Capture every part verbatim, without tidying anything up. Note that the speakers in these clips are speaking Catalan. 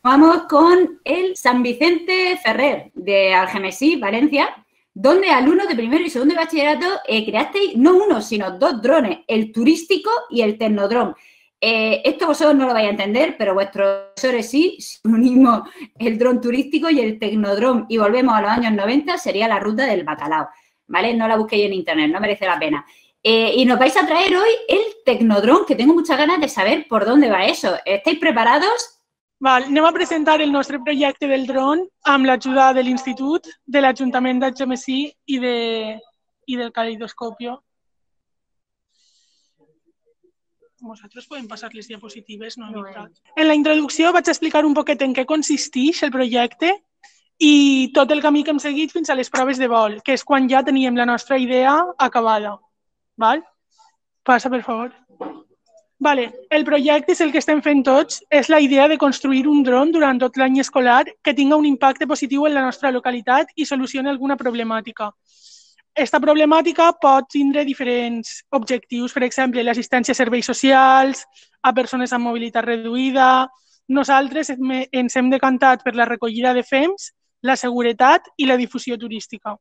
Vamos con el San Vicente Ferrer de Algemesí, Valencia, donde alumnos de primero y segundo de bachillerato eh, creasteis no uno, sino dos drones, el turístico y el tecnodrón. Eh, esto vosotros no lo vais a entender, pero vuestros profesores sí. Si unimos el dron turístico y el tecnodrón y volvemos a los años noventa, sería la ruta del bacalao, ¿vale? No la busquéis en internet, no merece la pena. Eh, y nos vais a traer hoy el tecnodrón, que tengo muchas ganas de saber por dónde va eso. ¿Estáis preparados? Val, anem a presentar el nostre projecte del dron amb l'ajuda de l'Institut, de l'Ajuntament d'Algemesí i, de, i del Caleidoscopio. Vosaltres podem passar les diapositives, no? no eh. En la introducció vaig explicar un poquet en què consisteix el projecte i tot el camí que hem seguit fins a les proves de vol, que és quan ja teníem la nostra idea acabada. Val? Passa, per favor. Vale. El projecte és el que estem fent tots, és la idea de construir un dron durant tot l'any escolar que tinga un impacte positiu en la nostra localitat i solucioni alguna problemàtica. Aquesta problemàtica pot tindre diferents objectius, per exemple, l'assistència a serveis socials, a persones amb mobilitat reduïda. Nosaltres ens hem decantat per la recollida de fems, la seguretat i la difusió turística.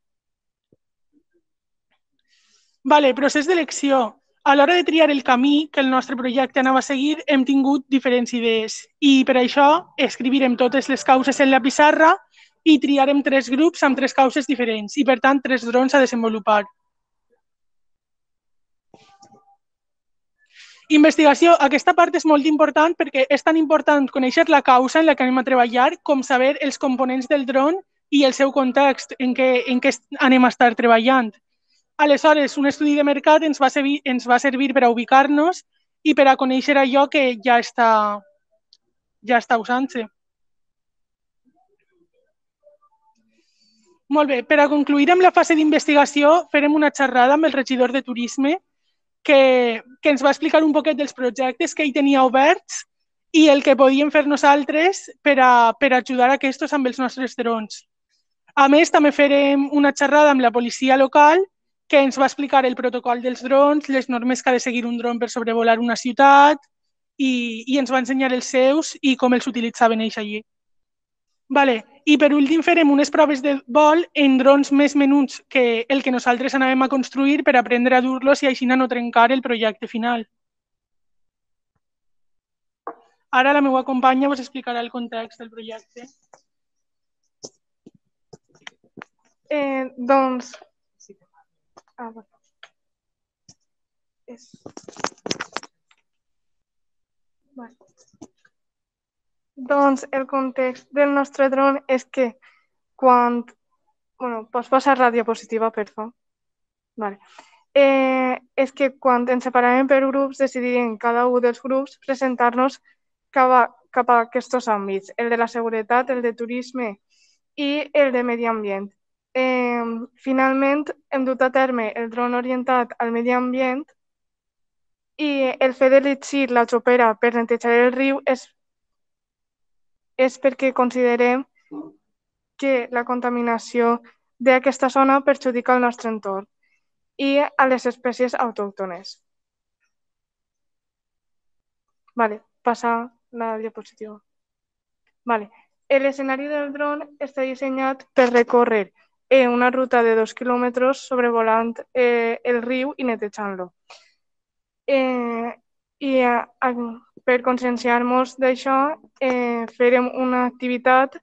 Vale, procés d'elecció. A l'hora de triar el camí que el nostre projecte anava a seguir, hem tingut diferents idees i per això escrivirem totes les causes en la pissarra i triarem tres grups amb tres causes diferents i, per tant, tres drons a desenvolupar. Investigació. Aquesta part és molt important perquè és tan important conèixer la causa en la que anem a treballar com saber els components del dron i el seu context en què, en què anem a estar treballant. Aleshores, un estudi de mercat ens va servir, ens va servir per a ubicar-nos i per a conèixer allò que ja està, ja està usant-se. Molt bé, per a concluir amb la fase d'investigació, farem una xerrada amb el regidor de Turisme que, que ens va explicar un poquet dels projectes que ell tenia oberts i el que podíem fer nosaltres per a, per a ajudar a aquests amb els nostres drons. A més, també farem una xerrada amb la policia local que ens va explicar el protocol dels drons, les normes que ha de seguir un dron per sobrevolar una ciutat i, i ens va ensenyar els seus i com els utilitzaven ells allí. Vale. I per últim farem unes proves de vol en drons més menuts que el que nosaltres anàvem a construir per aprendre a dur-los i així no trencar el projecte final. Ara la meva companya us explicarà el context del projecte. Eh, doncs... Ah, bueno. És... Vale. Doncs el context del nostre dron és que quan... Bueno, pots passar la diapositiva, per favor? Vale. Eh, és que quan ens separàvem per grups decidirem cada un dels grups presentar-nos cap a, cap a aquests àmbits, el de la seguretat, el de turisme i el de medi ambient. Eh, finalment, hem dut a terme el dron orientat al medi ambient i el fet d'elegir la xopera per netejar el riu és, és perquè considerem que la contaminació d'aquesta zona perjudica el nostre entorn i a les espècies autòctones. Vale, passa la diapositiva. Vale. L'escenari del dron està dissenyat per recórrer una ruta de dos quilòmetres sobrevolant eh, el riu i netejant-lo. Eh, I eh, per conscienciar-nos d'això, eh, farem una activitat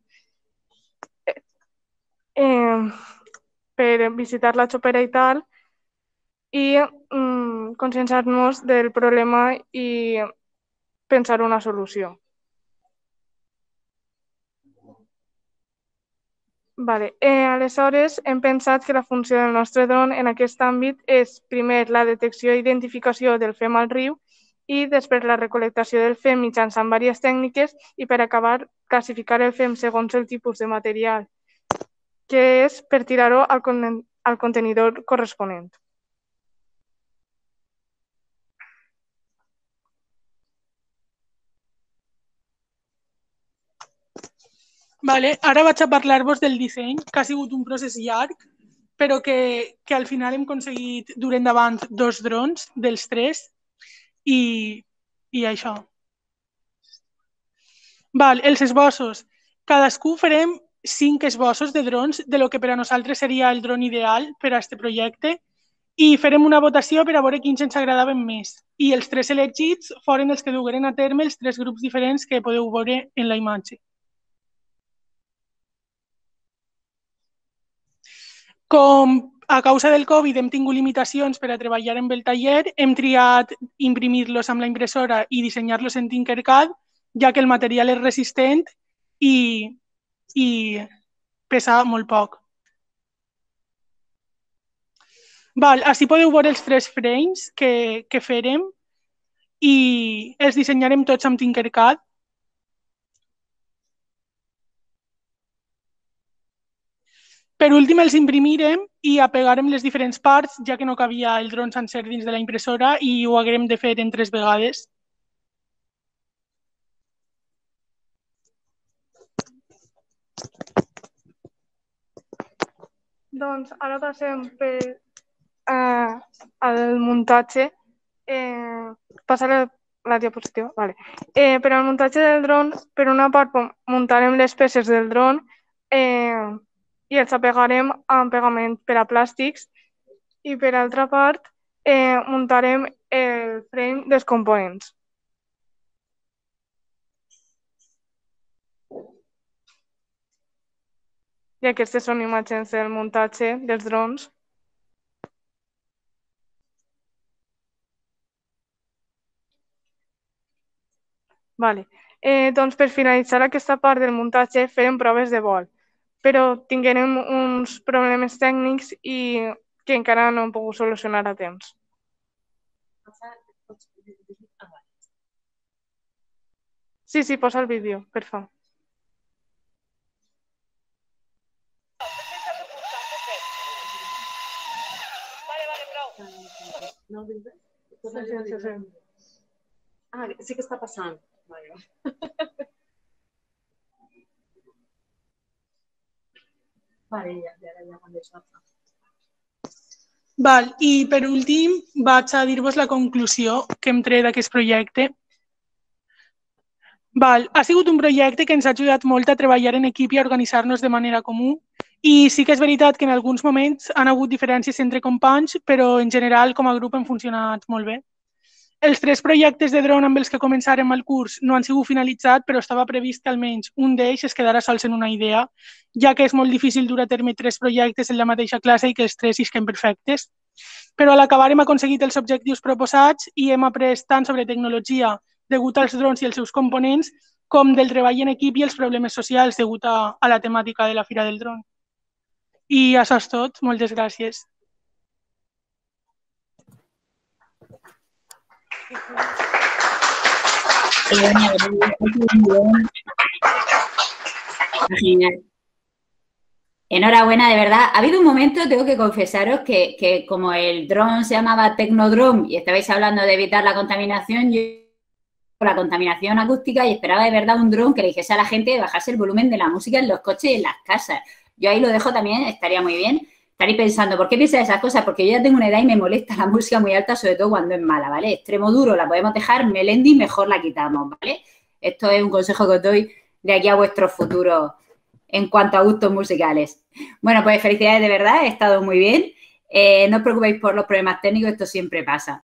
eh, per visitar la xopera i tal, i mm, conscienciar-nos del problema i pensar una solució. Vale. Eh, aleshores, hem pensat que la funció del nostre dron en aquest àmbit és, primer, la detecció i identificació del fem al riu i després la recol·lectació del fem mitjançant diverses tècniques i, per acabar, classificar el fem segons el tipus de material, que és per tirar-ho al, con al contenidor corresponent. Vale, ara vaig a parlar-vos del disseny, que ha sigut un procés llarg, però que, que al final hem aconseguit dur endavant dos drons dels tres i, i això. Val, els esbossos. Cadascú farem cinc esbossos de drons de lo que per a nosaltres seria el dron ideal per a aquest projecte i farem una votació per a veure quins ens agradaven més. I els tres elegits foren els que dugueren a terme els tres grups diferents que podeu veure en la imatge. Com a causa del Covid hem tingut limitacions per a treballar amb el taller, hem triat imprimir-los amb la impressora i dissenyar-los en Tinkercad, ja que el material és resistent i, i pesa molt poc. Val, així podeu veure els tres frames que, que farem i els dissenyarem tots amb Tinkercad. Per últim, els imprimirem i apegarem les diferents parts, ja que no cabia el dron sencer dins de la impressora i ho haguem de fer en tres vegades. Doncs ara passem per eh, al muntatge. Eh, passa la, la diapositiva. Vale. Eh, per al muntatge del dron, per una part muntarem les peces del dron eh, i els apegarem amb pegament per a plàstics i per altra part eh, muntarem el frame dels components. I aquestes són imatges del muntatge dels drons. Vale. Eh, doncs per finalitzar aquesta part del muntatge farem proves de vol, però tinguérem uns problemes tècnics i que encara no hem pogut solucionar a temps. Sí, sí, posa el vídeo, per favor. No, sí, sí, sí. Ah, sí que està passant. Vale. Vale, ja, ja, ja, quan deixo. Val, i per últim vaig a dir-vos la conclusió que hem tret d'aquest projecte. Val, ha sigut un projecte que ens ha ajudat molt a treballar en equip i a organitzar-nos de manera comú. I sí que és veritat que en alguns moments han hagut diferències entre companys, però en general com a grup hem funcionat molt bé. Els tres projectes de dron amb els que començarem el curs no han sigut finalitzats, però estava previst que almenys un d'ells es quedara sols en una idea, ja que és molt difícil dur a terme tres projectes en la mateixa classe i que els tres isquen perfectes. Però a l'acabar hem aconseguit els objectius proposats i hem après tant sobre tecnologia degut als drons i els seus components, com del treball en equip i els problemes socials degut a, a la temàtica de la Fira del Dron. I això és tot. Moltes gràcies. Genial. Enhorabuena, de verdad. Ha habido un momento, tengo que confesaros, que, que como el dron se llamaba Tecnodrome y estabais hablando de evitar la contaminación, yo la contaminación acústica y esperaba de verdad un dron que le dijese a la gente de bajarse el volumen de la música en los coches y en las casas. Yo ahí lo dejo también, estaría muy bien. Estaréis pensando, ¿por qué piensas esas cosas? Porque yo ya tengo una edad y me molesta la música muy alta, sobre todo cuando es mala, ¿vale? Extremo duro la podemos dejar, Melendi mejor la quitamos, ¿vale? Esto es un consejo que os doy de aquí a vuestros futuros en cuanto a gustos musicales. Bueno, pues felicidades de verdad, he estado muy bien. Eh, no os preocupéis por los problemas técnicos, esto siempre pasa.